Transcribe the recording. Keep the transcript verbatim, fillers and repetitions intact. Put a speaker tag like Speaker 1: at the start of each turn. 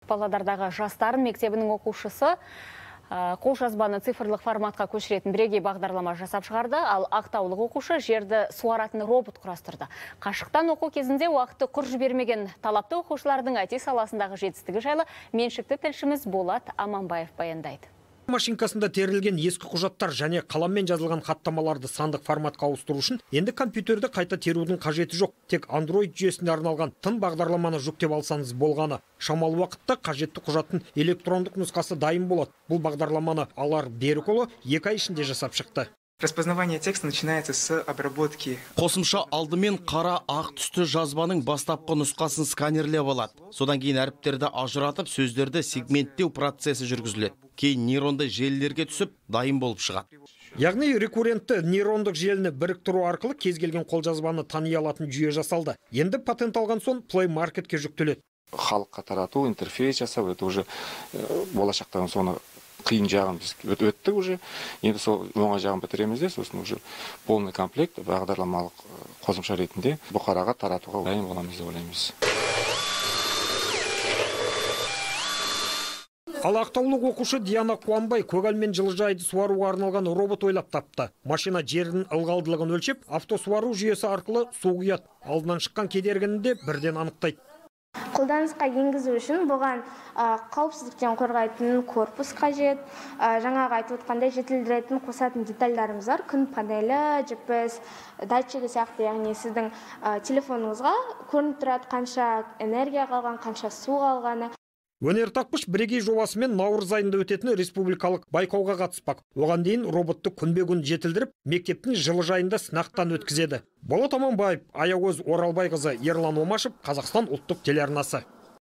Speaker 1: Павлодардағы жастар мектебінің оқушысы қолжазбаны цифрлық форматқа көшіретін бірегей бағдарлама жасап шығарды, ал ақтаулық оқушы жерді суаратын робот құрастырды. Қашықтан оқу кезінде уақытты құр жібермеген талапты оқушылардың ай ти саласындағы жетістігі жайлы меншікті тілшіміз Болат Аманбаев баяндайды.
Speaker 2: Машинкасында терілген ескі құжаттар және қаламмен жазылған хаттамаларды сандық форматқа ауыстыру үшін енді компьютерді қайта терудің қажеті жоқ. Тек Android жүйесіне арналған тың бағдарламаны жүктеп алсаңыз болғаны. Шамалы уақытта қажетті құжаттың электрондық нұсқасы дайын болады. Бұл бағдарламаны Алар Берікұлы екі ай ішінде жасап шықты.
Speaker 3: Распознавание текста начинается с обработки.
Speaker 4: Қосымша алдымен қара ақ түсті жазбаның бастапқы нұсқасын сканерлеп алады. Содан кейін әріптерді ажыратып, сөздерді сегменттеу процесі жүргізіледі. Кейін нейронды желілерге түсіп, дайын болып шығады.
Speaker 2: Яғни рекуррентті нейрондық желіні біріктіру арқылы кез келген қолжазбаны тани алатын жүйе жасалды. Енді патент алған соң Play Marketке жүктеледі.
Speaker 5: Халыққа тарату, интерфейс жасау, это уже болашақтан соны қиын жағын біз өтті уже. Енді сол оңай жағын бітіреміз де, сосын уже полный комплект бағдарламалық қосымша ретінде бұқараға таратуға дайын боламыз деп ойлаймыз.
Speaker 2: Ал ақтаулық оқушы Диана Қуанбай көгал мен жылыжайды суаруға арналған робот ойлап тапты. Машина жердің ылғалдылығын өлшеп, автосуару жүйесі арқылы су құяды. Алдынан шыққан кедергіні де бірден анықтайды.
Speaker 6: Қолданысқа енгізу үшін бұған қауіпсіздіктен қорғайтын корпус қажет, жаңағы айтып отқандай жетілдіретін қосатын детальдарымыз бар, күн панелі, джи пи эс датчигі сияқты, яғни сіздің телефоныңызға көрініп тұрады қанша энергия қалған, қанша су қалғаны.
Speaker 2: Өнертапқыш бірегей жобасымен наурыз айында өтетін республикалық байқауға қатыспақ. Оған дейін роботты күнбе-күн жетілдіріп, мектептің жылыжайында сынақтан өткізеді. Болат Аманбаев, Аягөз Оралбайқызы, Ерлан Омашев, Қазақстан ұлттық телеарнасы.